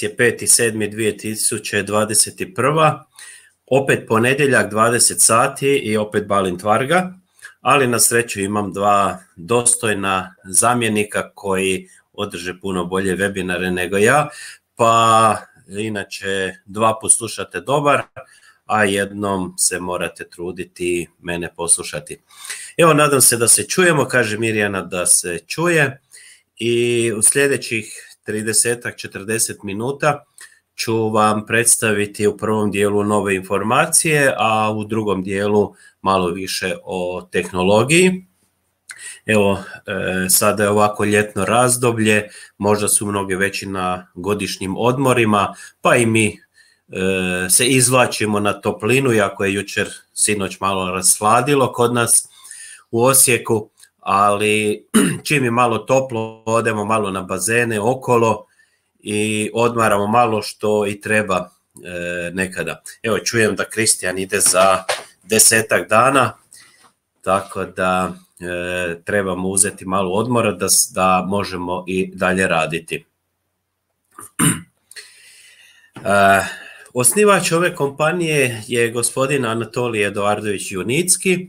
je 5.7.2021. Opet ponedjeljak 20 sati i opet Balint Varga, ali na sreću imam dva dostojna zamjenika koji održe puno bolje webinare nego ja, pa inače dva put slušate dobar, a jednom se morate truditi mene poslušati. Evo, nadam se da se čujemo, kaže Mirjana da se čuje, i u sljedećih 30-40 minuta ću vam predstaviti u prvom dijelu nove informacije, a u drugom dijelu malo više o tehnologiji. Evo, sada je ovako ljetno razdoblje, možda su mnogi već i na godišnjim odmorima, pa i mi se izvlačimo na toplinu, iako je jučer sinoć malo rasladilo kod nas u Osijeku, ali čim je malo toplo, odemo malo na bazene okolo i odmaramo malo, što i treba nekada. Evo, čujem da Kristijan ide za 10 dana, tako da trebamo uzeti malo odmora da možemo i dalje raditi. Osnivač ove kompanije je gospodin Anatolij Eduardović Junicki,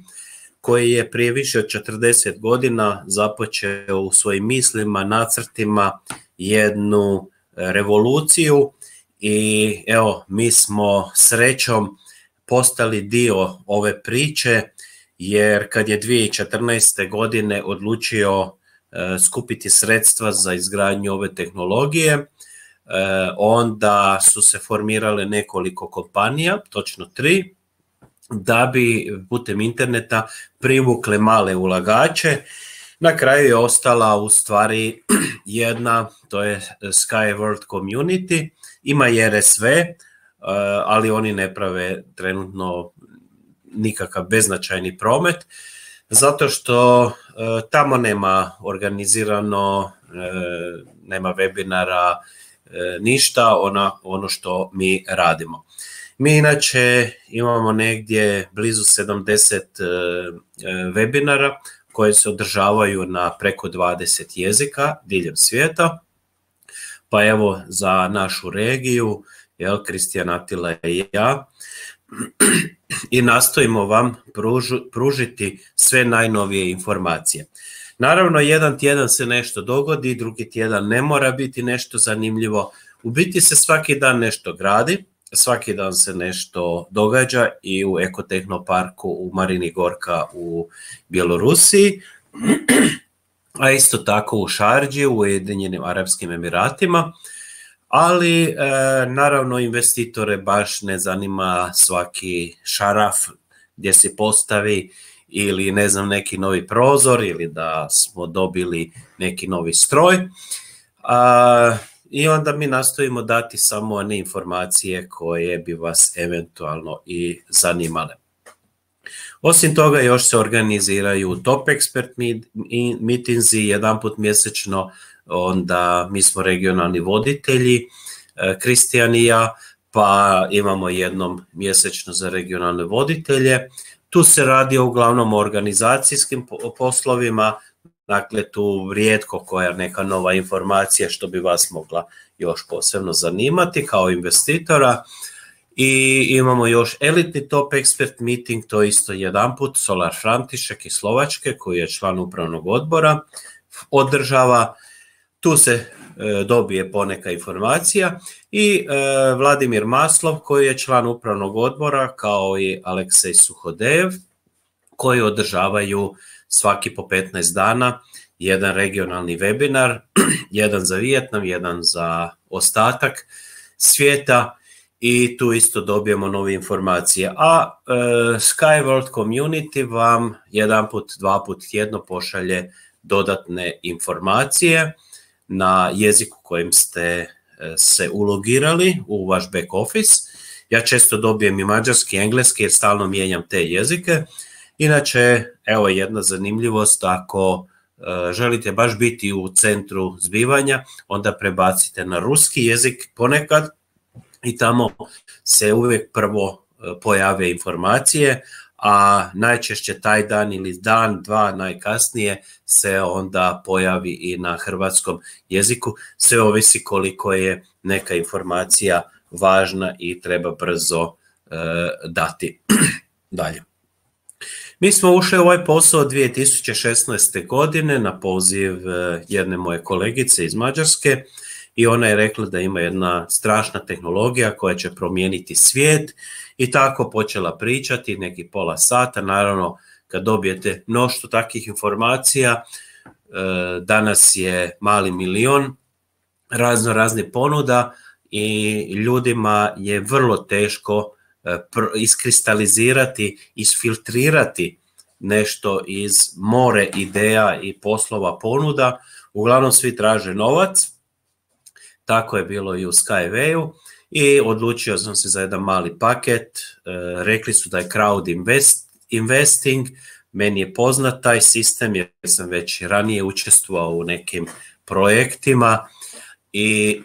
koji je prije više od 40 godina započeo u svojim mislima, nacrtima jednu revoluciju, i evo, mi smo srećom postali dio ove priče, jer kad je 2014. godine odlučio skupiti sredstva za izgradnju ove tehnologije, onda su se formirale nekoliko kompanija, točno 3, da bi putem interneta privukle male ulagače. Na kraju je ostala u stvari jedna, to je Skyworld Community, ima i RSV, ali oni ne prave trenutno nikakav beznačajni promet, zato što tamo nema organizirano, nema webinara, ništa ono što mi radimo. Mi inače imamo negdje blizu 70 webinara koje se održavaju na preko 20 jezika diljem svijeta, pa evo za našu regiju, Kristijan, Atila i ja, i nastojimo vam pružiti sve najnovije informacije. Naravno, jedan tjedan se nešto dogodi, drugi tjedan ne mora biti nešto zanimljivo. U biti se svaki dan nešto gradi, svaki dan se nešto događa i u Ekotehnoparku u Marini Gorka u Bjelorusiji, a isto tako u Šardži u Ujedinjenim Arapskim Emiratima, ali naravno investitore baš ne zanima svaki šaraf gdje se postavi ili ne znam neki novi prozor ili da smo dobili neki novi stroj, i onda mi nastojimo dati samo one informacije koje bi vas eventualno i zanimale. Osim toga, još se organiziraju top expert meetingsi jedanput mjesečno, onda mi smo regionalni voditelji, Kristijan i ja, pa imamo jednom mjesečno za regionalne voditelje. Tu se radi uglavnom o organizacijskim poslovima, dakle tu rijetko koja neka nova informacija što bi vas mogla još posebno zanimati kao investitora. I imamo još elitni top expert meeting, to isto jedanput Solar František iz Slovačke, koji je član upravnog odbora, održava. Tu se dobije poneka informacija, i Vladimir Maslov, koji je član upravnog odbora, kao i Aleksej Suhodejev, koji održavaju svaki po 15 dana jedan regionalni webinar, jedan za Vijetnam, jedan za ostatak svijeta, i tu isto dobijemo nove informacije. A Skyworld Community vam jedan put, dva put tjedno pošalje dodatne informacije na jeziku kojim ste se ulogirali u vaš back office. Ja često dobijem i mađarski, engleski, jer stalno mijenjam te jezike. Inače, evo jedna zanimljivost, ako želite baš biti u centru zbivanja, onda prebacite na ruski jezik ponekad i tamo se uvijek prvo pojave informacije, a najčešće taj dan ili dan, dva najkasnije se onda pojavi i na hrvatskom jeziku. Sve ovisi koliko je neka informacija važna i treba brzo dati. Dalje. Mi smo ušli u ovaj posao 2016. godine na poziv jedne moje kolegice iz Mađarske i ona je rekla da ima jedna strašna tehnologija koja će promijeniti svijet i tako počela pričati neki pola sata. Naravno, kad dobijete mnoštvo takvih informacija, danas je mali milion raznih ponuda i ljudima je vrlo teško iskristalizirati, isfiltrirati nešto iz more ideja i poslova ponuda. Uglavnom svi traže novac, tako je bilo i u Skywayu i odlučio sam se za jedan mali paket. Rekli su da je crowd investing, meni je poznat taj sistem jer sam već ranije učestvovao u nekim projektima i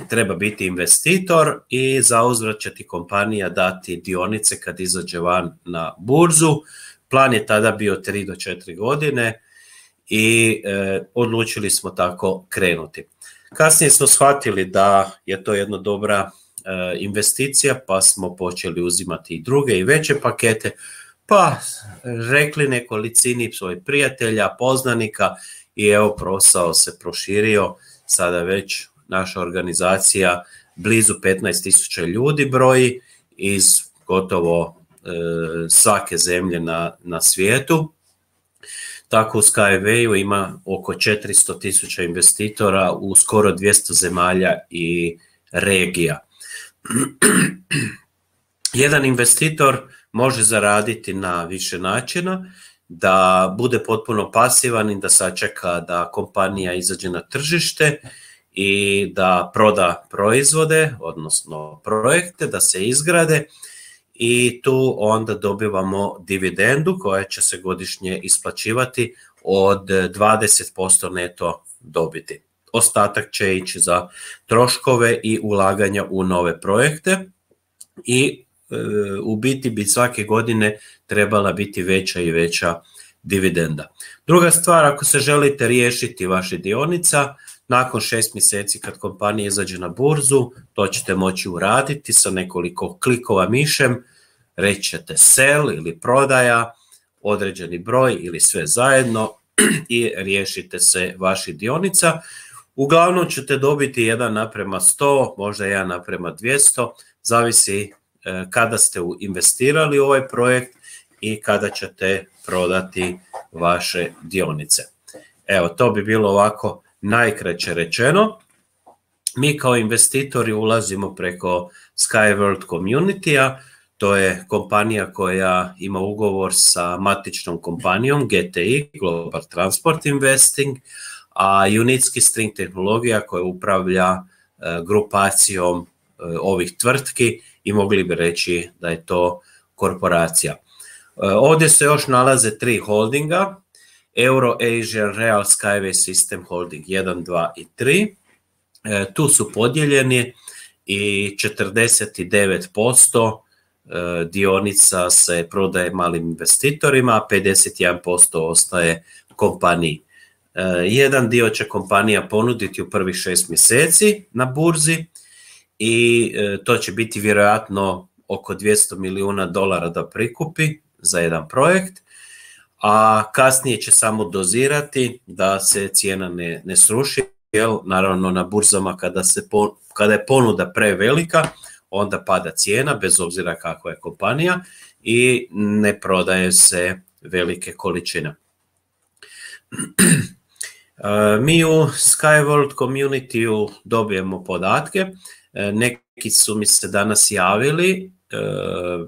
treba biti investitor i zauzvrat će ti kompanija dati dionice kad izađe van na burzu. Plan je tada bio 3 do 4 godine i odlučili smo tako krenuti. Kasnije smo shvatili da je to jedna dobra investicija, pa smo počeli uzimati i druge i veće pakete, pa rekli nekolicini svojih prijatelja, poznanika i evo posao se proširio. Sada već naša organizacija blizu 15.000 ljudi broji iz gotovo svake zemlje na svijetu. Tako u Skywayu ima oko 400.000 investitora u skoro 200 zemalja i regija. Jedan investitor može zaraditi na više načina, da bude potpuno pasivan i da sačeka da kompanija izađe na tržište i da proda proizvode, odnosno projekte, da se izgrade i tu onda dobivamo dividendu koja će se godišnje isplaćivati od 20% neto dobiti. Ostatak će ići za troškove i ulaganja u nove projekte i u biti bi svake godine trebala biti veća i veća dividenda. Druga stvar, ako se želite riješiti vaše dionica, nakon 6 mjeseci kad kompanija izađe na burzu, to ćete moći uraditi sa nekoliko klikova mišem, reći ćete sell ili prodaja, određeni broj ili sve zajedno i riješite se vaših dionica. Uglavnom ćete dobiti 1:100, možda 1:200, zavisi kada ste investirali u ovaj projekt i kada ćete prodati vaše dionice. Evo, to bi bilo ovako najkraće rečeno. Mi kao investitori ulazimo preko Skyworld Community-a, to je kompanija koja ima ugovor sa matičnom kompanijom GTI, Global Transport Investing, a Unitski String tehnologija koja upravlja grupacijom ovih tvrtki i mogli bi reći da je to korporacija. Ovdje se još nalaze 3 holdinga, Euro-Asian Real Skyway System Holding 1, 2 i 3. Tu su podijeljeni i 49% dionica se prodaje malim investitorima, a 51% ostaje kompaniji. Jedan dio će kompanija ponuditi u prvih 6 mjeseci na burzi i to će biti vjerojatno oko $200 milijuna da prikupi za jedan projekt, a kasnije će samo dozirati da se cijena ne sruši, jer naravno na burzama kada je ponuda prevelika, onda pada cijena bez obzira kakva je kompanija i ne prodaje se velike količine. Mi u Skyworld Community-u dobijemo podatke, neki su mi se danas javili,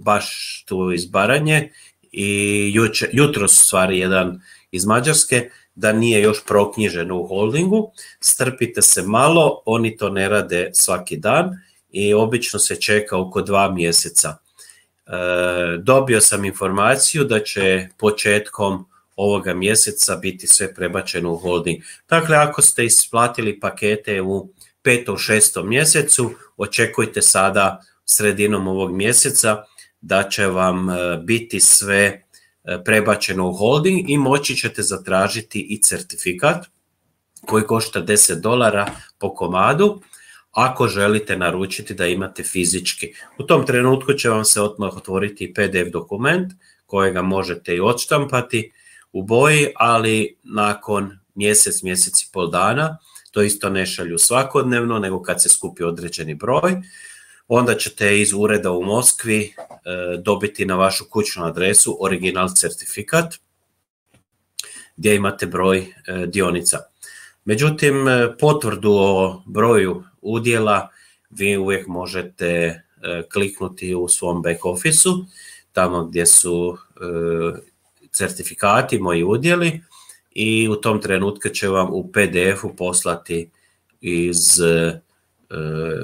baš tu iz Baranje i jutros u stvari jedan iz Mađarske, da nije još proknjižen u holdingu. Strpite se malo, oni to ne rade svaki dan i obično se čeka oko 2 mjeseca. Dobio sam informaciju da će početkom ovoga mjeseca biti sve prebačeno u holding. Dakle, ako ste isplatili pakete u 5. 6. mjesecu, očekujte sada sredinom ovog mjeseca da će vam biti sve prebačeno u holding i moći ćete zatražiti i certifikat koji košta $10 po komadu ako želite naručiti da imate fizički. U tom trenutku će vam se odmah otvoriti PDF dokument kojega možete i odštampati u boji, ali nakon mjesec i pol dana, to isto ne šalju svakodnevno, nego kad se skupi određeni broj, onda ćete iz ureda u Moskvi dobiti na vašu kućnu adresu original certifikat gdje imate broj dionica. Međutim, potvrdu o broju udjela vi uvijek možete kliknuti u svom back office-u, tamo gdje su certifikati, moji udjeli, i u tom trenutku će vam u PDF-u poslati iz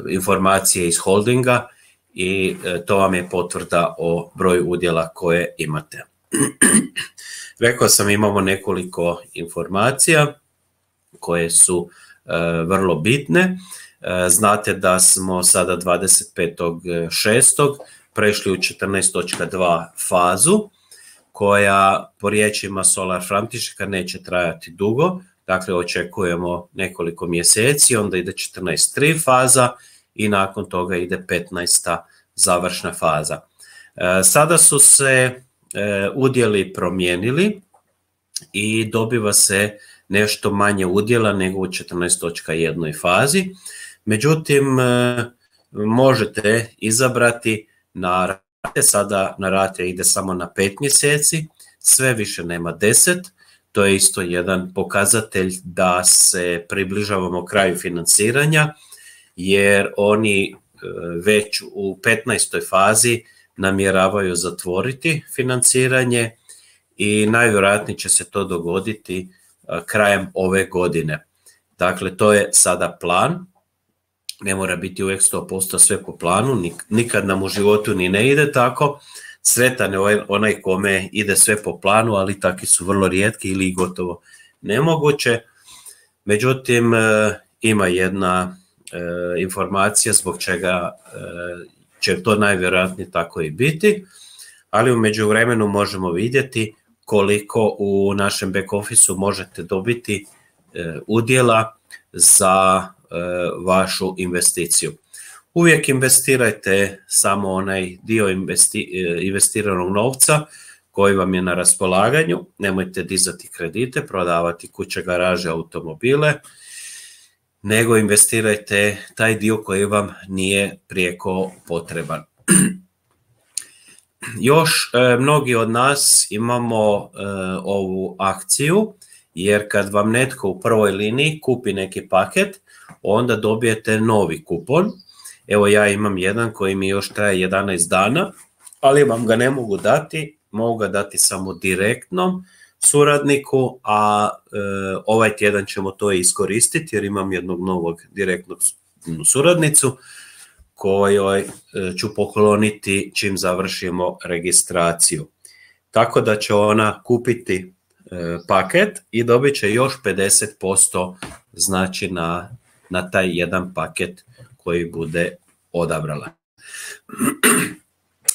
informacije iz holdinga i to vam je potvrda o broju udjela koje imate. Rekao sam, imamo nekoliko informacija koje su vrlo bitne. Znate da smo sada 25.6. prešli u 14.2 fazu, koja po riječima Solar Front-Tišeka neće trajati dugo, dakle očekujemo nekoliko mjeseci, onda ide 14.3 faza i nakon toga ide 15. završna faza. Sada su se udjeli promijenili i dobiva se nešto manje udjela nego u 14.1 fazi, međutim možete izabrati na rate, sada na rate ide samo na 5 mjeseci, sve više nema 10, to je isto jedan pokazatelj da se približavamo kraju financiranja, jer oni već u 15. fazi namjeravaju zatvoriti financiranje i najvjerojatnije će se to dogoditi krajem ove godine. Dakle, to je sada plan, ne mora biti uvijek 100% sve po planu, nikad nam u životu ni ne ide tako, sretan je onaj kome ide sve po planu, ali takvi su vrlo rijetki ili gotovo nemoguće. Međutim, ima jedna informacija zbog čega će to najvjerojatnije tako i biti, ali u međuvremenu možemo vidjeti koliko u našem back office-u možete dobiti udjela za vašu investiciju. Uvijek investirajte samo onaj dio investiranog novca koji vam je na raspolaganju, nemojte dizati kredite, prodavati kuće, garaže, automobile, nego investirajte taj dio koji vam nije prijeko potreban. Još mnogi od nas imamo ovu akciju, jer kad vam netko u prvoj liniji kupi neki paket, onda dobijete novi kupon. Evo, ja imam jedan koji mi još traje 11 dana, ali vam ga ne mogu dati, mogu ga dati samo direktnom suradniku, a ovaj tjedan ćemo to iskoristiti jer imam jednog novog direktnog suradnicu kojoj ću pokloniti čim završimo registraciju. Tako da će ona kupiti paket i dobit će još 50% znači na taj jedan paket koji bude odabrala.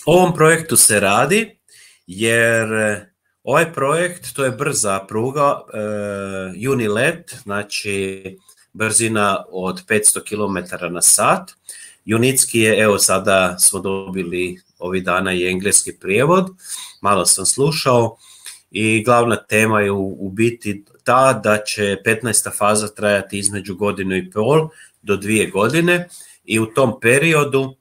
O ovom projektu se radi jer ovaj projekt, to je brza pruga Unilet, znači brzina od 500 km/h. Junicki je, evo sada smo dobili ovih dana i engleski prijevod, malo sam slušao i glavna tema je u biti ta da će 15. faza trajati između 1,5 do 2 godine i u tom periodu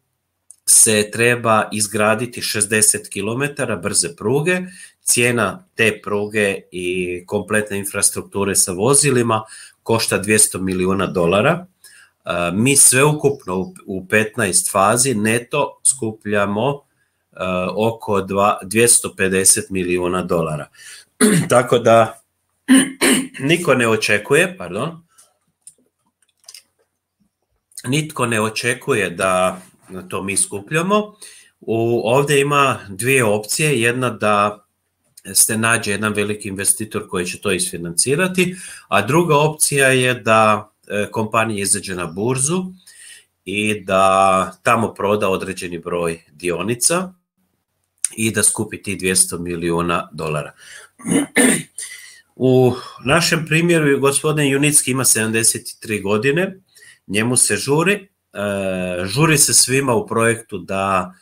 se treba izgraditi 60 km brze pruge. Cijena te pruge i kompletne infrastrukture sa vozilima košta $200 milijuna. Mi sveukupno u 15 fazi neto skupljamo oko $250 milijuna. Tako da nitko ne očekuje da to mi skupljamo. Ovdje ima dvije opcije, jedna da se nađe jedan veliki investitor koji će to isfinancirati, a druga opcija je da kompanija izađe na burzu i da tamo proda određeni broj dionica i da skupi ti $200 milijuna. U našem primjeru gospodin Junicki ima 73 godine, njemu se žuri se svima u projektu da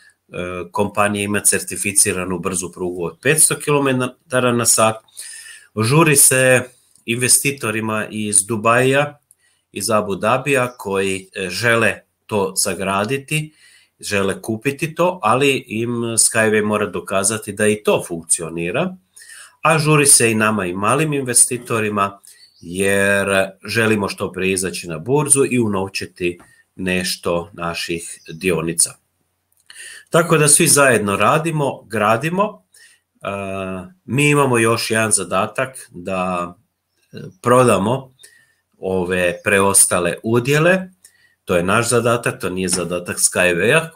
kompanija ima certificiranu brzu prugu od 500 km/h, žuri se investitorima iz Dubaija, iz Abu Dhabija koji žele to sagraditi, žele kupiti to, ali im Skyway mora dokazati da i to funkcionira, a žuri se i nama i malim investitorima jer želimo što prije izaći na burzu i unovčiti nešto naših dionica. Tako da svi zajedno radimo, gradimo. Mi imamo još jedan zadatak da prodamo ove preostale udjele. To je naš zadatak, to nije zadatak Skywaya.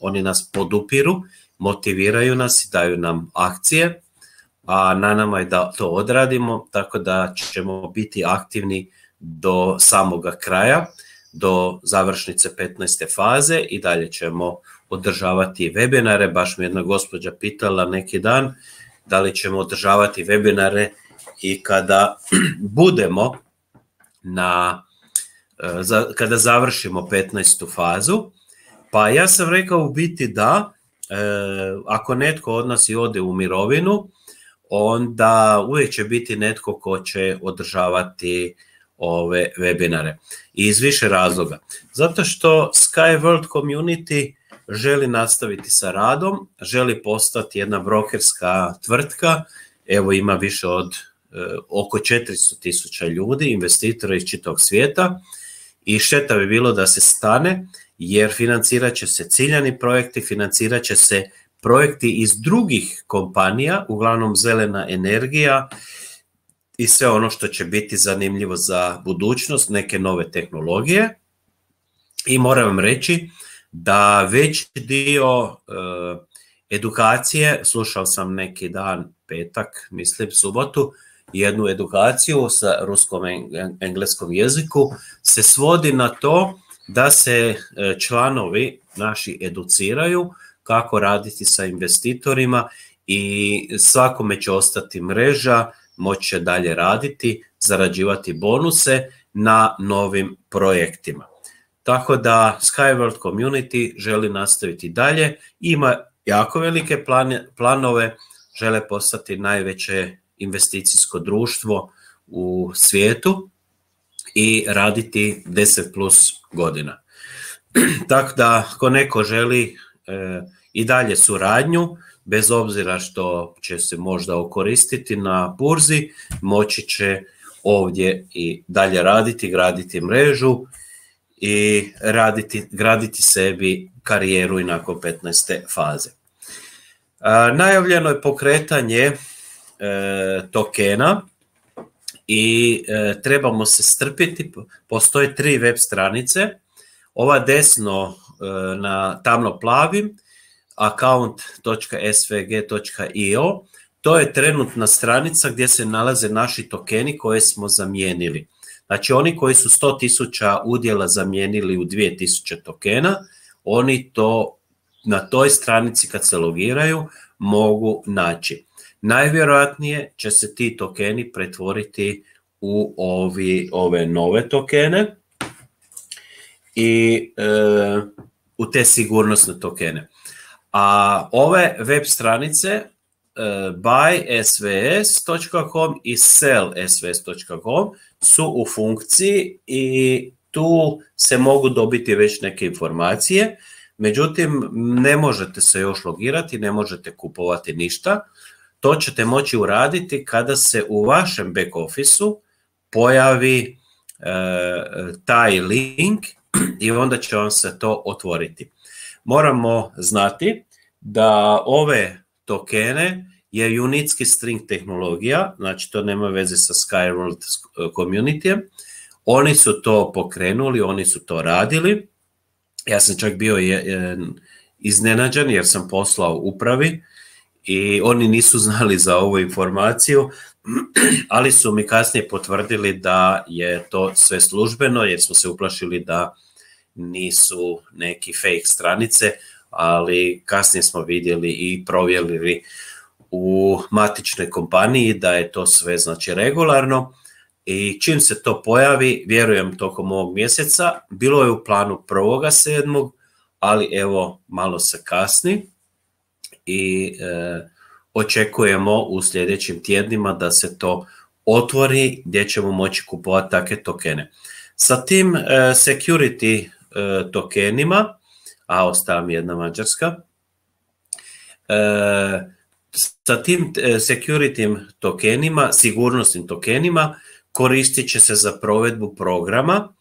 Oni nas podupiru, motiviraju nas i daju nam akcije, a na nama je da to odradimo, tako da ćemo biti aktivni do samoga kraja, do završnice 15. faze i dalje ćemo održavati webinare. Baš mi jedna gospođa pitala neki dan da li ćemo održavati webinare i kada budemo kada završimo 15. fazu. Pa ja sam rekao u biti da, ako netko od nas i ode u mirovinu, onda uvijek će biti netko ko će održavati ove webinare. I iz više razloga. Zato što Sky World Community želi nastaviti sa radom, želi postati jedna brokerska tvrtka, evo ima više od oko 400.000 ljudi, investitora iz čitavog svijeta i šteta bi bilo da se stane jer financirat će se ciljani projekti, financirat će se projekti iz drugih kompanija, uglavnom zelena energija i sve ono što će biti zanimljivo za budućnost, neke nove tehnologije. I moram vam reći da veći dio edukacije, slušao sam neki dan, petak, mislim subotu, jednu edukaciju sa ruskom engleskom jeziku, se svodi na to da se članovi naši educiraju kako raditi sa investitorima i svakome će ostati mreža, moći će dalje raditi, zarađivati bonuse na novim projektima. Tako da Sky World Community želi nastaviti dalje, ima jako velike planove, žele postati najveće investicijsko društvo u svijetu i raditi 10+ godina. Tako da ako neko želi i dalje suradnju, bez obzira što će se možda okoristiti na burzi, moći će ovdje i dalje raditi, graditi mrežu i graditi sebi karijeru i nakon 15. faze. Najavljeno je pokretanje tokena i trebamo se strpiti. Postoje 3 web stranice. Ova desno na tamno plavim account.svg.io, to je trenutna stranica gdje se nalaze naši tokeni koje smo zamijenili. Znači oni koji su 100.000 udjela zamijenili u 2000 tokena, oni to na toj stranici kad se logiraju mogu naći. Najvjerojatnije će se ti tokeni pretvoriti u ove nove tokene i u te sigurnosne tokene. A ove web stranice buysvs.com i sellsvs.com su u funkciji i tu se mogu dobiti već neke informacije, međutim ne možete se još logirati, ne možete kupovati ništa. To ćete moći uraditi kada se u vašem back officeu pojavi taj link i onda će vam se to otvoriti. Moramo znati da ove tokene je Junicki string tehnologija, znači to nema veze sa Sky World Community. Oni su to pokrenuli, oni su to radili. Ja sam čak bio iznenađen jer sam poslao upravi i oni nisu znali za ovu informaciju, ali su mi kasnije potvrdili da je to sve službeno jer smo se uplašili da nisu neki fake stranice. ali kasnije smo vidjeli i provjerili u matičnoj kompaniji da je to sve znači regularno i čim se to pojavi, vjerujem tokom ovog mjeseca, bilo je u planu 1.7., ali evo malo se kasni i očekujemo u sljedećim tjednima da se to otvori gdje ćemo moći kupovati takve tokene. Sa tim security tokenima, a ostala mi jedna mađarska, sa tim security tokenima, sigurnosnim tokenima, koristit će se za provedbu programa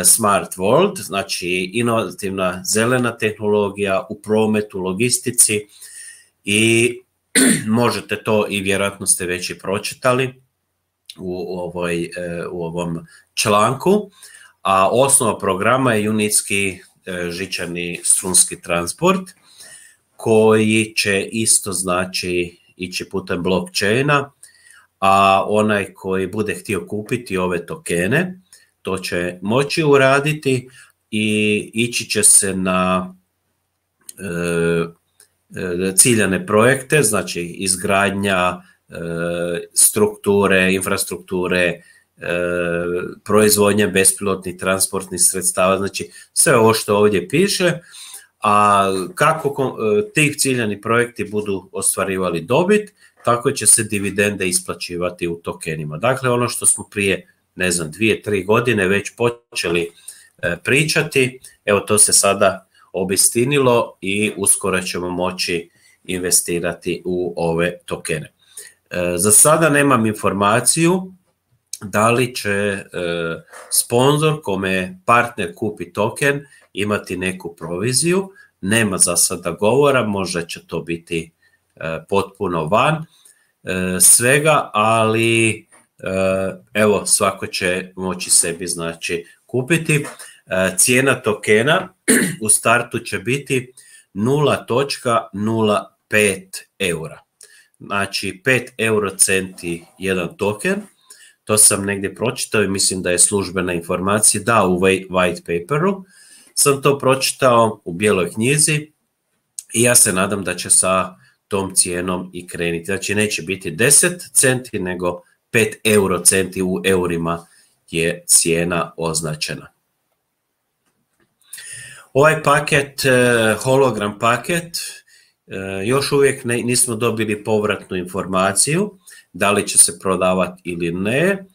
Smart World, znači inovativna zelena tehnologija u prometu, logistici i možete to i vjerojatno ste već i pročitali u ovom članku, a osnova programa je unitski žičani strunski transport koji će isto znači ići putem blockchaina, a onaj koji bude htio kupiti ove tokene, to će moći uraditi i ići će se na ciljane projekte, znači izgradnja strukture, infrastrukture, proizvodnja bespilotnih transportnih sredstava, znači sve ovo što ovdje piše, a kako ti ciljani projekti budu ostvarivali dobit, tako će se dividende isplaćivati u tokenima. Dakle, ono što smo prije, 2-3 godine već počeli pričati, evo to se sada obistinilo i uskoro ćemo moći investirati u ove tokene. Za sada nemam informaciju da li će sponzor kome partner kupi token imati neku proviziju, nema za sada govora, možda će to biti potpuno van svega, ali evo svako će moći sebi znači kupiti. Cijena tokena u startu će biti 0.05 eura. Znači 5 eurocenti jedan token, to sam negdje pročitao i mislim da je službena informacija, da u white paperu sam to pročitao u bijeloj knjizi i ja se nadam da će sa tom cijenom i krenuti. Znači neće biti 10 centi nego 5 eurocenti u eurima je cijena označena. Ovaj paket, hologram paket, još uvijek nismo dobili povratnu informaciju da li će se prodavati ili ne.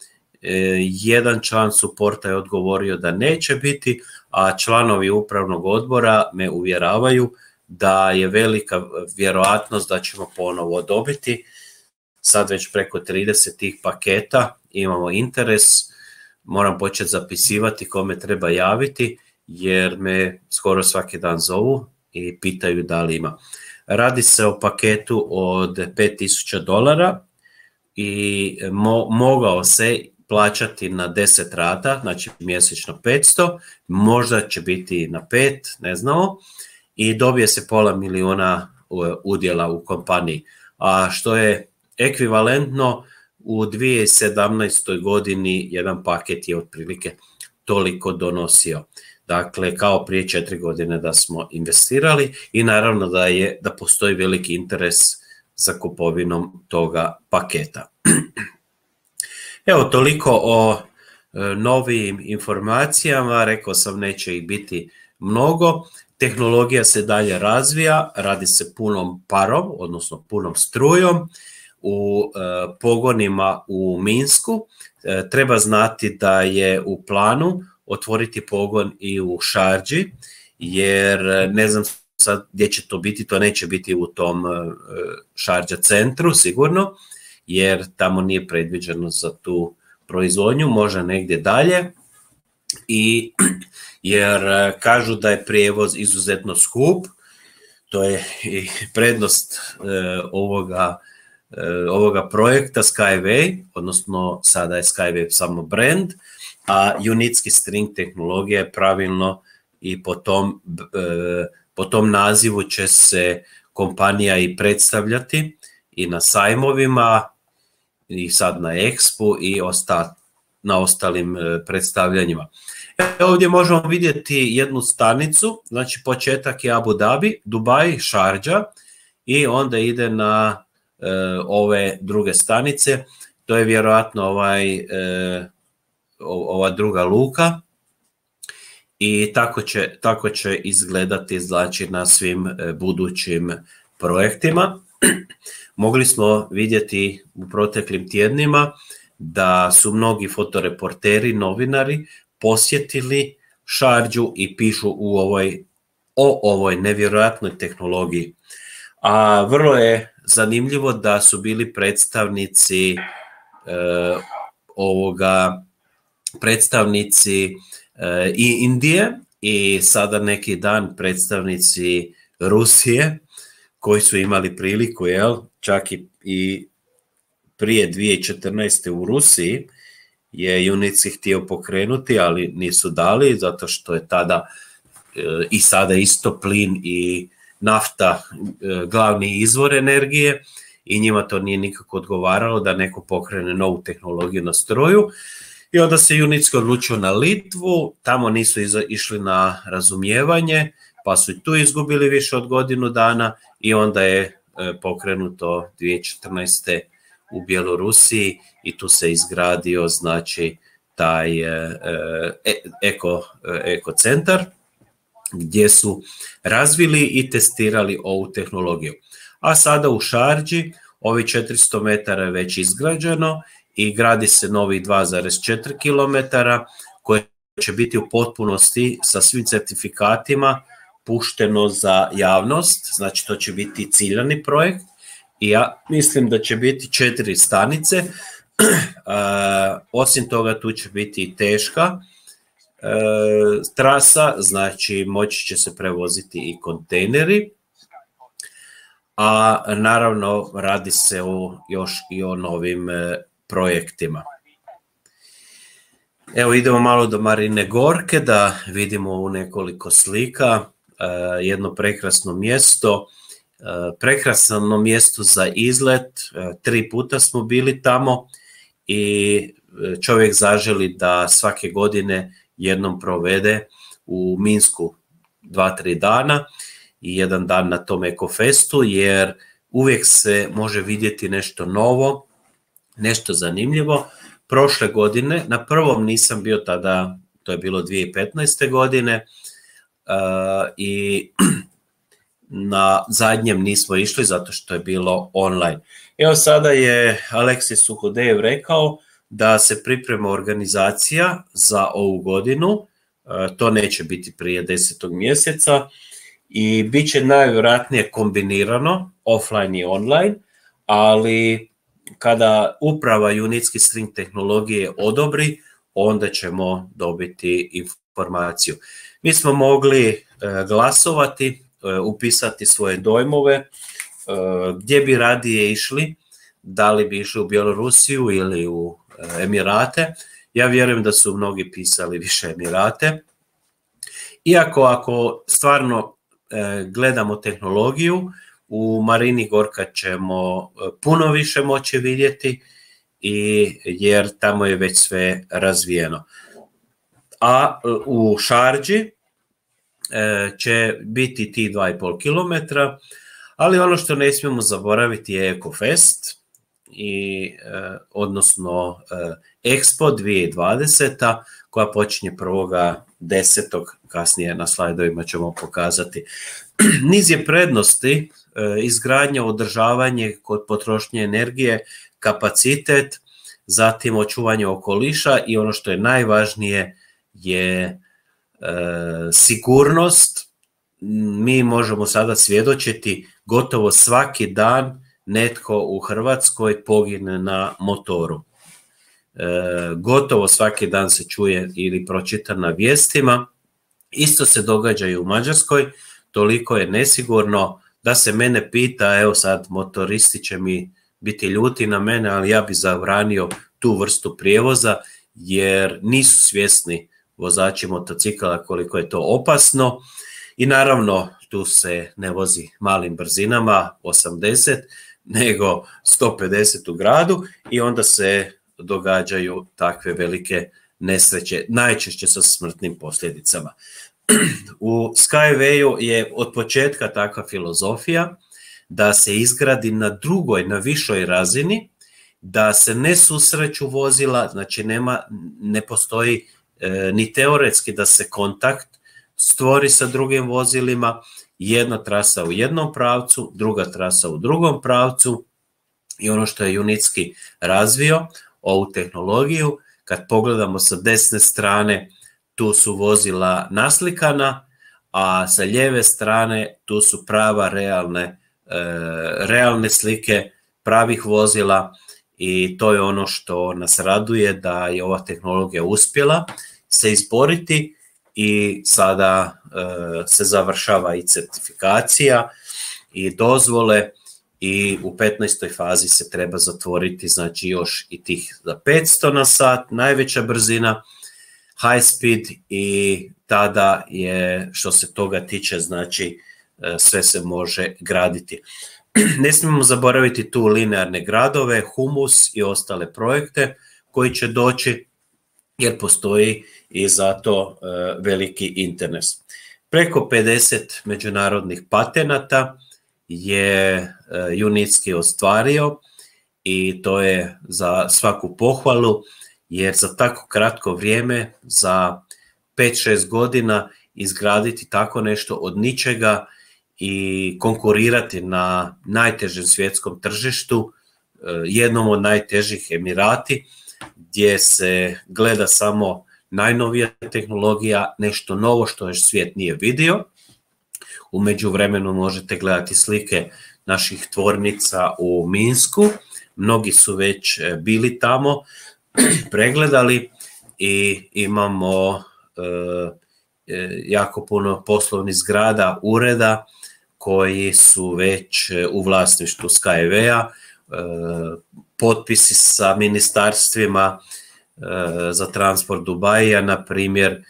Jedan član suporta je odgovorio da neće biti, a članovi upravnog odbora me uvjeravaju da je velika vjerojatnost da ćemo ponovo dobiti. Sad već preko 30 tih paketa imamo interes, moram početi zapisivati kome treba javiti, jer me skoro svaki dan zovu i pitaju da li ima. Radi se o paketu od $5,000 i mogao se plaćati na 10 rata, znači mjesečno 500, možda će biti na 5, ne znamo, i dobije se $500,000 udjela u kompaniji, a što je ekvivalentno u 2017. godini jedan paket je otprilike toliko donosio. Dakle, kao prije 4 godine da smo investirali i naravno da postoji veliki interes za kupovinom toga paketa. Evo, toliko o novim informacijama, rekao sam neće ih biti mnogo. Tehnologija se dalje razvija, radi se punom parom, odnosno punom strujom u pogonima u Minsku. Treba znati da je u planu otvoriti pogon i u Šardži, jer ne znam sad gdje će to biti, to neće biti u tom Šardža centru sigurno, jer tamo nije predviđeno za tu proizvodnju, možda negdje dalje, jer kažu da je prijevoz izuzetno skup, to je i prednost ovoga projekta Skyway, odnosno sada je Skyway samo brand, a unitski string tehnologija je pravilno i po tom nazivu će se kompanija i predstavljati i na sajmovima i sad na Expu i na ostalim predstavljanjima. Ovdje možemo vidjeti jednu stanicu, znači početak je Abu Dhabi, Dubai, Šardža i onda ide na ove druge stanice, to je vjerojatno ova druga luka i tako će izgledati znači na svim budućim projektima. Mogli smo vidjeti u proteklim tjednima da su mnogi fotoreporteri, novinari posjetili Šardžu i pišu o ovoj nevjerojatnoj tehnologiji. A vrlo je zanimljivo da su bili predstavnici i Indije i sada neki dan predstavnici Rusije koji su imali priliku, čak i prije 2014. u Rusiji je Junicki htio pokrenuti, ali nisu dali, zato što je tada i sada isto plin i nafta glavni izvor energije i njima to nije nikako odgovaralo da neko pokrene novu tehnologiju na stroju. I onda se Junicki odlučio na Litvu, tamo nisu išli na razumijevanje, pa su i tu izgubili više od godinu dana i onda je pokrenuto 2014. u Bjelorusiji i tu se izgradio znači taj ekocentar gdje su razvili i testirali ovu tehnologiju. A sada u Šardži ovi 400 metara je već izgrađeno i gradi se novih 2,4 km koje će biti u potpunosti sa svim certifikatima pušteno za javnost, znači to će biti ciljani projekt i ja mislim da će biti 4 stanice, osim toga tu će biti i teška trasa, znači moći će se prevoziti i kontejneri, a naravno radi se još i o novim projektima. Evo idemo malo do Marine Gorke da vidimo u nekoliko slika jedno prekrasno mjesto, prekrasno mjesto za izlet, 3 puta smo bili tamo i čovjek zaželi da svake godine jednom provede u Minsku 2-3 dana i jedan dan na tom ekofestu, jer uvijek se može vidjeti nešto novo, nešto zanimljivo. Prošle godine, na prvom nisam bio tada, to je bilo 2015. godine i na zadnjem nismo išli zato što je bilo online. Evo sada je Aleksis Suhodejev rekao da se priprema organizacija za ovu godinu, to neće biti prije 10. mjeseca i bit će najvjerojatnije kombinirano offline i online, ali kada uprava Junicki string tehnologije odobri, onda ćemo dobiti informaciju. Mi smo mogli glasovati, upisati svoje dojmove, gdje bi radije išli, da li bi išli u Bjelorusiju ili u Emirate. Ja vjerujem da su mnogi pisali više Emirate. Iako ako stvarno gledamo tehnologiju, u Marini Gorka ćemo puno više moći vidjeti jer tamo je već sve razvijeno. A u Šardži će biti ti 2,5 km, ali ono što ne smijemo zaboraviti je EcoFest, odnosno Expo 2020. koja počinje 1.10. kasnije na slajdovima ćemo pokazati. Niz je prednosti, izgradnja, održavanje kod potrošnje energije, kapacitet, zatim očuvanje okoliša i ono što je najvažnije je sigurnost. Mi možemo sada svjedočiti gotovo svaki dan netko u Hrvatskoj pogine na motoru. Gotovo svaki dan se čuje ili pročita na vijestima. Isto se događa i u Mađarskoj, toliko je nesigurno da se mene pita, evo sad motoristi će mi biti ljuti na mene, ali ja bi zabranio tu vrstu prijevoza jer nisu svjesni vozači motocikala koliko je to opasno i naravno tu se ne vozi malim brzinama 80 nego 150 u gradu i onda se događaju takve velike nesreće, najčešće sa smrtnim posljedicama. U Skywayu je od početka takva filozofija da se izgradi na drugoj, na višoj razini, da se ne susreću vozila, znači ne postoji ni teoretski da se kontakt stvori sa drugim vozilima, jedna trasa u jednom pravcu, druga trasa u drugom pravcu. I ono što je Junicki razvio, ovu tehnologiju, kad pogledamo sa desne strane, tu su vozila naslikana, a sa lijeve strane tu su prava realne slike pravih vozila, i to je ono što nas raduje, da je ova tehnologija uspjela se izboriti i sada se završava i certifikacija i dozvole, i u 15. fazi se treba zatvoriti, znači još i tih za 500 na sat, najveća brzina, high speed, i tada je, što se toga tiče, znači sve se može graditi. Ne smijemo zaboraviti tu linearne gradove, humus i ostale projekte koji će doći, jer postoji i zato veliki interes. Preko 50 međunarodnih patenata je Junicki ostvario, i to je za svaku pohvalu, jer za tako kratko vrijeme, za 5-6 godina, izgraditi tako nešto od ničega i konkurirati na najtežem svjetskom tržištu, jednom od najtežih, Emirati, gdje se gleda samo najnovija tehnologija, nešto novo što još svijet nije vidio. U međuvremenu možete gledati slike naših tvornica u Minsku, mnogi su već bili tamo, pregledali, i imamo jako puno poslovnih zgrada, ureda koji su već u vlasništvu Skywaya, potpisi sa ministarstvima za transport Dubaija, na primjer.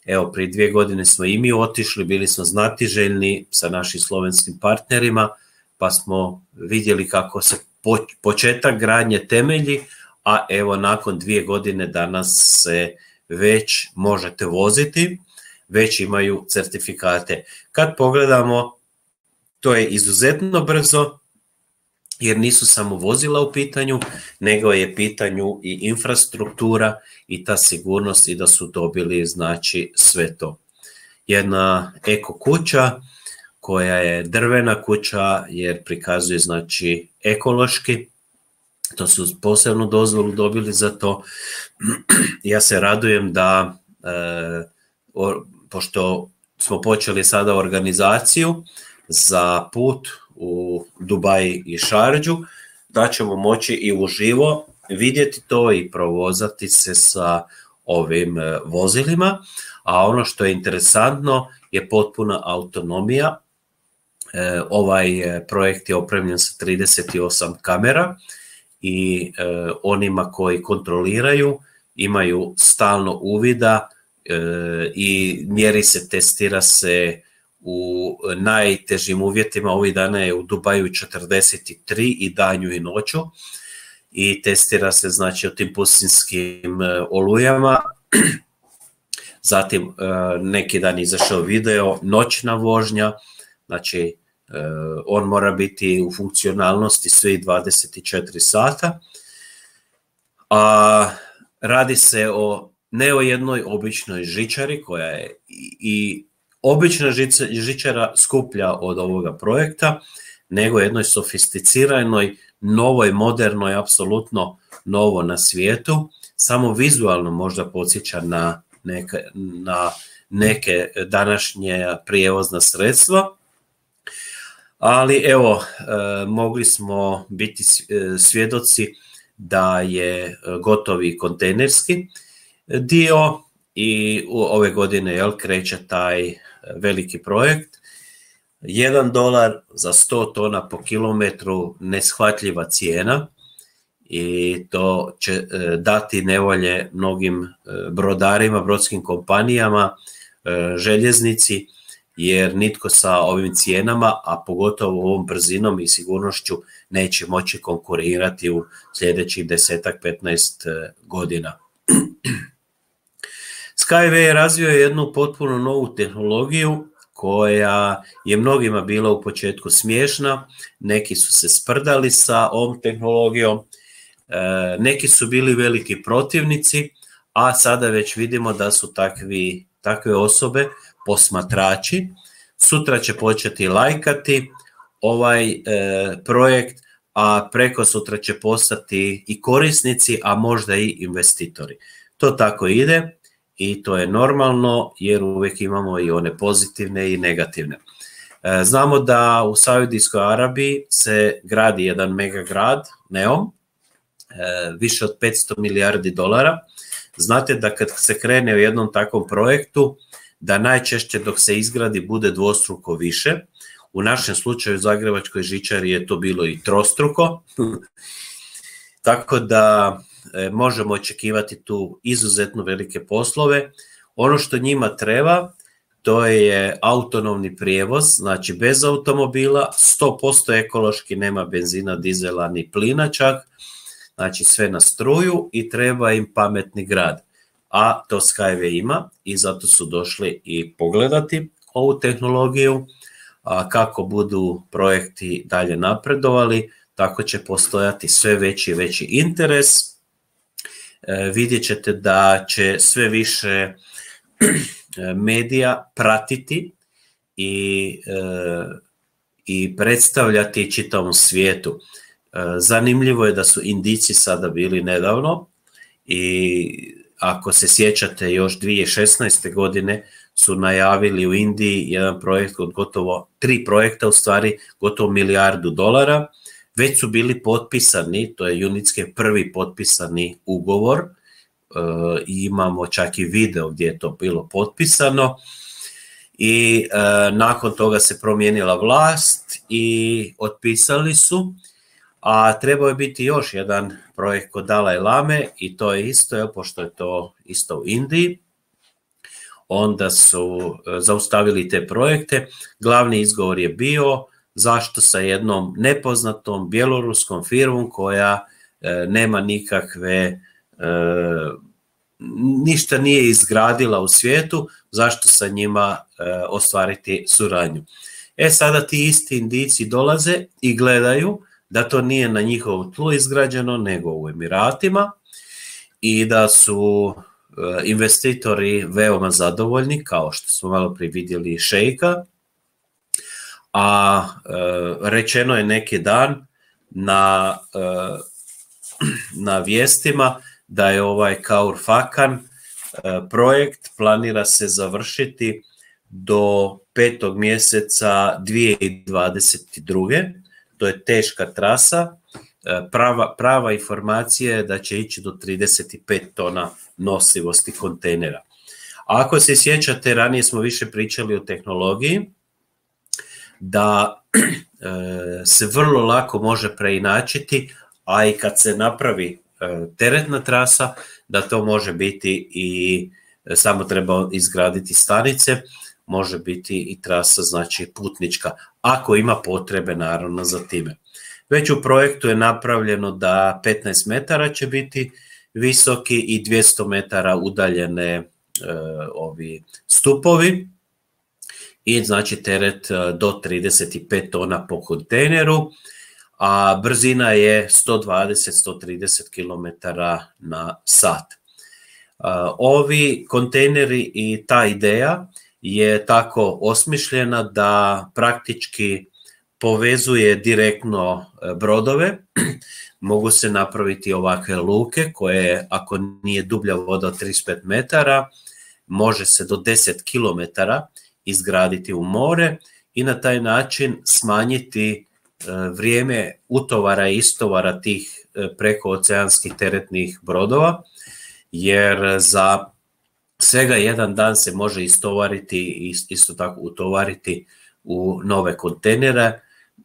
Evo, prije 2 godine smo i mi otišli, bili smo znatiželjni sa našim slovenskim partnerima, pa smo vidjeli kako se početak gradnje temelji, a evo nakon 2 godine danas se već možete voziti, već imaju certifikate. Kad pogledamo, to je izuzetno brzo, jer nisu samo vozila u pitanju, nego je pitanju i infrastruktura i ta sigurnost, i da su dobili, znači, sve to. Jedna eko kuća koja je drvena kuća, jer prikazuje, znači, ekološki, to su posebnu dozvolu dobili za to. Ja se radujem da, pošto smo počeli sada organizaciju za put u Dubai i Šardžu, da ćemo moći i uživo vidjeti to i provozati se sa ovim vozilima. A ono što je interesantno je potpuna autonomija. Ovaj projekt je opremljen sa 38 kamera, i onima koji kontroliraju imaju stalno uvida, i mjeri se, testira se u najtežim uvjetima. Ovih dana je u Dubaju 43 i danju i noću, i testira se, znači, o tim pustinskim olujama. Zatim neki dan izašao video, noćna vožnja, znači on mora biti u funkcionalnosti svih 24 sata. A radi se ne o jednoj običnoj žičari, koja je i obična žičara skuplja od ovoga projekta, nego jednoj sofisticiranoj, novoj, modernoj, apsolutno novo na svijetu. Samo vizualno možda podsjeća na neke današnje prijevozna sredstva, ali evo, mogli smo biti svjedoci da je gotovi kontejnerski dio, i ove godine kreće taj veliki projekt. $1 za 100 tona po kilometru, neshvatljiva cijena, i to će dati nevolje mnogim brodarima, brodskim kompanijama, željeznici, jer nitko sa ovim cijenama, a pogotovo ovom brzinom i sigurnošću, neće moći konkurirati u sljedećih 10-15 godina. Skyway je razvio jednu potpuno novu tehnologiju koja je mnogima bila u početku smiješna, neki su se sprdali sa ovom tehnologijom, neki su bili veliki protivnici, a sada već vidimo da su takve osobe posmatrači. Sutra će početi lajkati ovaj projekt, a preko sutra će postati i korisnici, a možda i investitori. To tako ide i to je normalno jer uvijek imamo i one pozitivne i negativne. Znamo da u Saudijskoj Arabiji se gradi jedan megagrad, Neom, više od 500 milijardi dolara. Znate da kad se krene u jednom takvom projektu, da najčešće dok se izgradi bude dvostruko više. U našem slučaju u Zagrebačkoj žičari je to bilo i trostruko. Tako da možemo očekivati tu izuzetno velike poslove. Ono što njima treba, to je autonomni prijevoz, znači bez automobila, 100% ekološki, nema benzina, dizela ni plina čak, znači sve na struju i treba im pametni grad. A to Skyway ima i zato su došli i pogledati ovu tehnologiju. A kako budu projekti dalje napredovali, tako će postojati sve veći i veći interes. Vidjet ćete da će sve više medija pratiti i predstavljati čitavom svijetu. Zanimljivo je da su Indijci sada bili nedavno i ako se sjećate još 2016. godine su najavili u Indiji jedan projekt od gotovo 3 projekta, u stvari gotovo $1 milijardu. Već su bili potpisani, to je UNITSKI prvi potpisani ugovor, i imamo čak i video gdje je to bilo potpisano i nakon toga se promijenila vlast i otpisali su, a trebao je biti još jedan projekt kod Dalaj Lame i to je isto, pošto je to isto u Indiji, onda su zaustavili te projekte. Glavni izgovor je bio zašto sa jednom nepoznatom bjeloruskom firmom koja nema nikakve, ništa nije izgradila u svijetu, zašto sa njima ostvariti suradnju. Sada ti isti Indijci dolaze i gledaju da to nije na njihovom tlu izgrađeno, nego u Emiratima i da su investitori veoma zadovoljni, kao što smo malo prije vidjeli šejka, a rečeno je neki dan na vijestima da je ovaj Khor Fakkan projekt planira se završiti do 5. mjeseca 2022. To je teška trasa. Prava informacija je da će ići do 35 tona nosivosti kontejnera. A ako se sjećate, ranije smo više pričali o tehnologiji, da se vrlo lako može preinačiti, a i kad se napravi teretna trasa, da to može biti i samo treba izgraditi stanice, može biti i trasa, znači putnička, ako ima potrebe naravno za time. Već u projektu je napravljeno da 15 metara će biti visoki i 200 metara udaljene ovi stupovi i znači teret do 35 tona po kontejneru, a brzina je 120-130 km na sat. Ovi kontejneri i ta ideja je tako osmišljena da praktički povezuje direktno brodove. Mogu se napraviti ovakve luke koje, ako nije dublja voda od 35 metara, može se do 10 km izgraditi u more i na taj način smanjiti vrijeme utovara i istovara tih prekooceanskih teretnih brodova, jer za svega jedan dan se može istovariti i isto tako utovariti u nove kontejnere.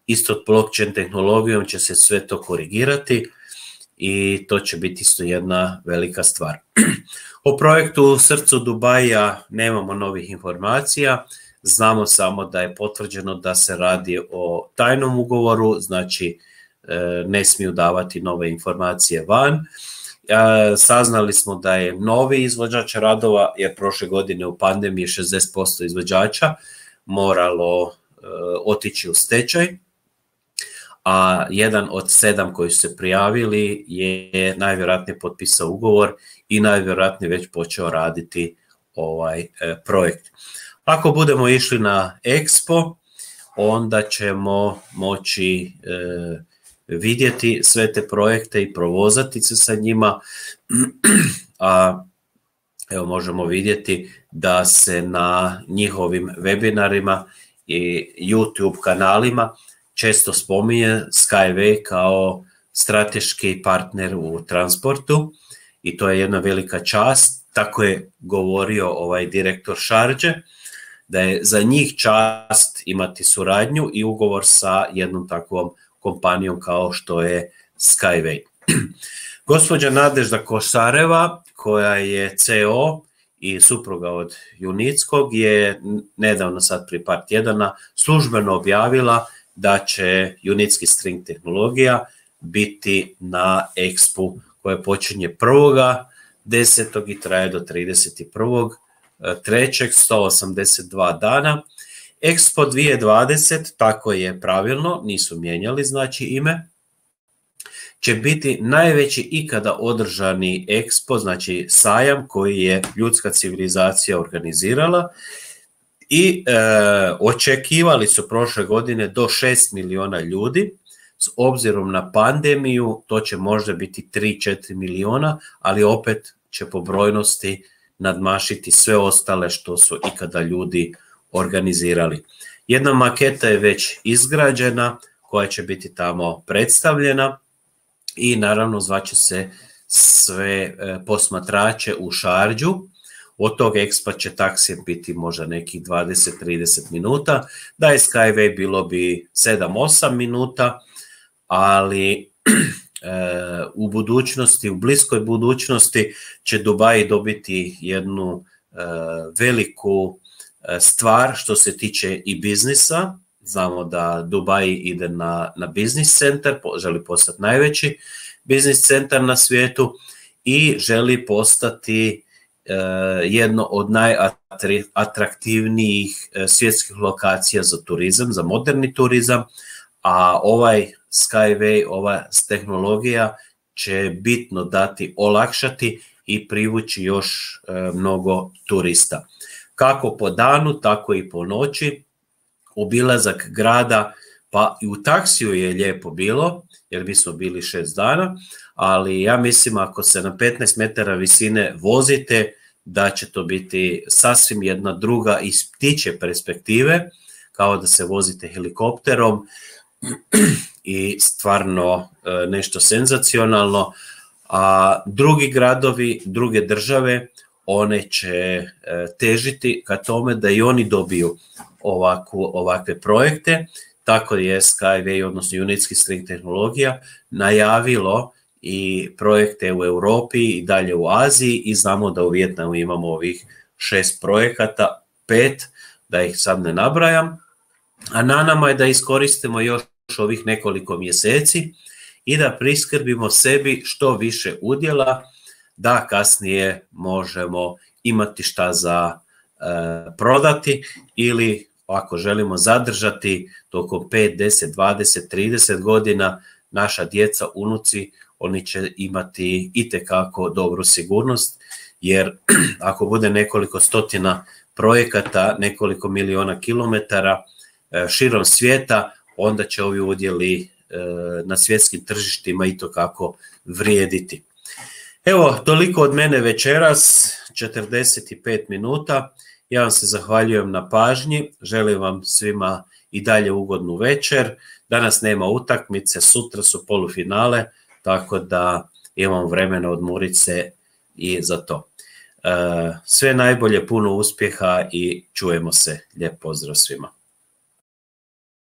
Isto blockchain tehnologijom će se sve to korigirati i to će biti isto jedna velika stvar. O projektu u srcu Dubaija nemamo novih informacija, znamo samo da je potvrđeno da se radi o tajnom ugovoru, znači ne smiju davati nove informacije van. Saznali smo da je novi izvođač radova, jer prošle godine u pandemiji 60% izvođača moralo otići u stečaj, a jedan od 7 koji su se prijavili je najvjerojatnije potpisao ugovor i najvjerojatnije već počeo raditi ovaj projekt. Ako budemo išli na Expo, onda ćemo moći vidjeti sve te projekte i provozati se sa njima, a evo možemo vidjeti da se na njihovim webinarima i YouTube kanalima često spominje Skyway kao strateški partner u transportu i to je jedna velika čast. Tako je govorio ovaj direktor Šarđe, da je za njih čast imati suradnju i ugovor sa jednom takvom kompanijom kao što je Skyway. Gospođa Nadežda Kosareva, koja je CEO i supruga od Junickog, je nedavno, sad prije par tjedana, službeno objavila da će Junicki string tehnologija biti na Expu koja počinje 1.10. i traje do 31.3. 182 dana. Expo 2020, tako je pravilno, nisu mijenjali znači ime, će biti najveći ikada održani Expo, znači sajam koji je ljudska civilizacija organizirala i očekivali su prošle godine do 6 miliona ljudi. S obzirom na pandemiju to će možda biti 3-4 miliona, ali opet će po brojnosti nadmašiti sve ostale što su ikada ljudi organizirali. Jedna maketa je već izgrađena koja će biti tamo predstavljena i naravno zvaće se sve posmatrače u Šarđu. Od tog Expa će taksije biti možda nekih 20-30 minuta, da je Skyway bilo bi 7-8 minuta, ali u budućnosti, u bliskoj budućnosti će Dubai dobiti jednu veliku stvar što se tiče i biznisa. Znamo da Dubai ide na biznis centar, želi postati najveći biznis centar na svijetu i želi postati jedno od najatraktivnijih svjetskih lokacija za turizam, za moderni turizam, a ovaj Skyway, ova tehnologija će bitno dati, olakšati i privući još mnogo turista. Kako po danu, tako i po noći. Obilazak grada, pa i u taksiju je lijepo bilo, jer mi smo bili 6 dana, ali ja mislim ako se na 15 metara visine vozite, da će to biti sasvim jedna druga iz ptičje perspektive, kao da se vozite helikopterom i stvarno nešto senzacionalno. A drugi gradovi, druge države, one će težiti ka tome da i oni dobiju ovakve projekte. Tako je Skyway, odnosno Junicki string tehnologija, najavilo i projekte u Europi i dalje u Aziji i znamo da u Vijetnamu imamo ovih 6 projekata, 5, da ih sad ne nabrajam, a na nama je da iskoristimo još ovih nekoliko mjeseci i da priskrbimo sebi što više udjela, da kasnije možemo imati šta za prodati ili ako želimo zadržati tokom 5, 10, 20, 30 godina naša djeca, unuci, oni će imati itekako dobru sigurnost, jer ako bude nekoliko stotina projekata, nekoliko miliona kilometara širom svijeta, onda će ovi udjeli na svjetskim tržištima itekako vrijediti. Evo, toliko od mene večeras, 45 minuta. Ja vam se zahvaljujem na pažnji, želim vam svima i dalje ugodnu večer. Danas nema utakmice, sutra su polufinale, tako da imamo vremena odmoriti se i za to. Sve najbolje, puno uspjeha i čujemo se. Lijep pozdrav svima.